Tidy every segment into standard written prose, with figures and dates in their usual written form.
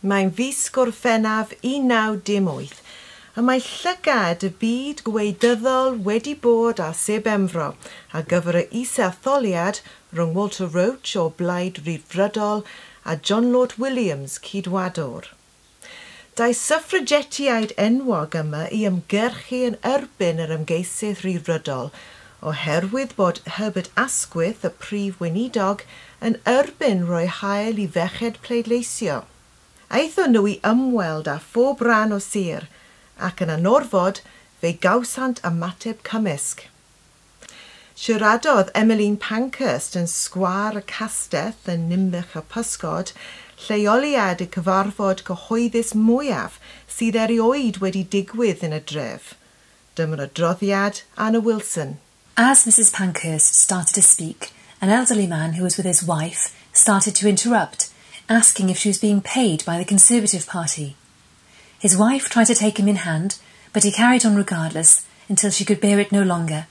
Mae'n fis Gorffennaf 1918 a mae llygad y byd gwleidyddol wedi bod ar Sir Benfro ar gyfer y isetholiad rhwng Walter Roach o Blaid Ryddfrydol a John Lort Williams, Ceidwadwr. Daeth suffragetiaid enwog yma i ymgyrchu yn erbyn yr ymgeisydd Rhyddfrydol oherwydd bod Herbert Asquith, y prif weinidog, yn erbyn rhoi hawl i ferched pleidleisio. Aethon nhw i ymweld â phob rhan o sir, ac yn anorfod fe gawsant ymateb cymysg. Siaradodd Emmeline Pankhurst yn Sgwâr y Castell yn Ninbych y Pysgod, lleoliad y cyfarfod cyhoeddus mwyaf sydd erioed wedi digwydd yn y dref. Dyma'r adroddiad Anna Wilson. As Mrs. Pankhurst started to speak, an elderly man who was with his wife started to interrupt, asking if she was being paid by the Conservative Party. His wife tried to take him in hand, but he carried on regardless until she could bear it no longer.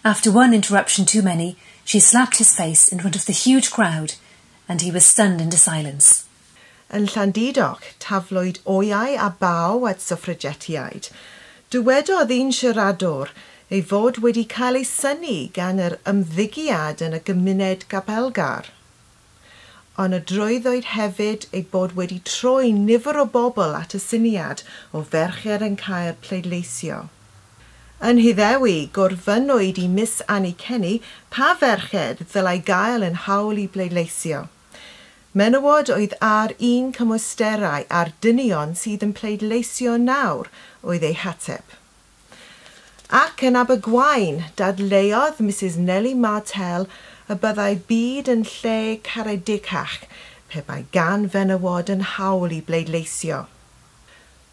After one interruption too many, she slapped his face in front of the huge crowd, and he was stunned into silence. Yn Llandudoch, taflwyd wyau a baw at suffragetiaid. Dywedodd un siaradwr ei fod wedi cael ei synnu gan yr ymddygiad yn y gymuned gapelgar. Ond adroddwyd hefyd ei bod wedi troi nifer o bobl at y syniad o ferched yn cael pleidleisio. Yn Nhyddewi, gofynnwyd i Miss Annie Kenney pa ferched ddylai gael yn hawl i bleidleisio. Menywod oedd â'r un cymwysterau â'r dynion sydd yn pleidleisio nawr oedd ei hateb. Ac yn Abergwaun, dadleuodd Mrs Nellie Martell y byddai byd yn lle caredicach pe bai gan fenywod yn hawl i bleidleisio.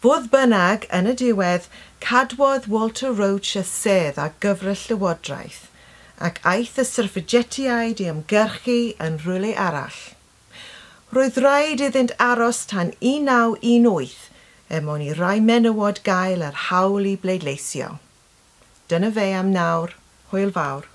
Fodd bynnag, yn y diwedd, cadwodd Walter Roach y sedd ar gyfer y Llywodraeth, ac aeth y suffragetiaid i ymgyrchu yn rhywle arall. Roedd rhaid iddynt aros tan 1918 er mwyn i rai menywod gael yr hawl i bleidleisio. Dyna fe am nawr. Hwyl fawr.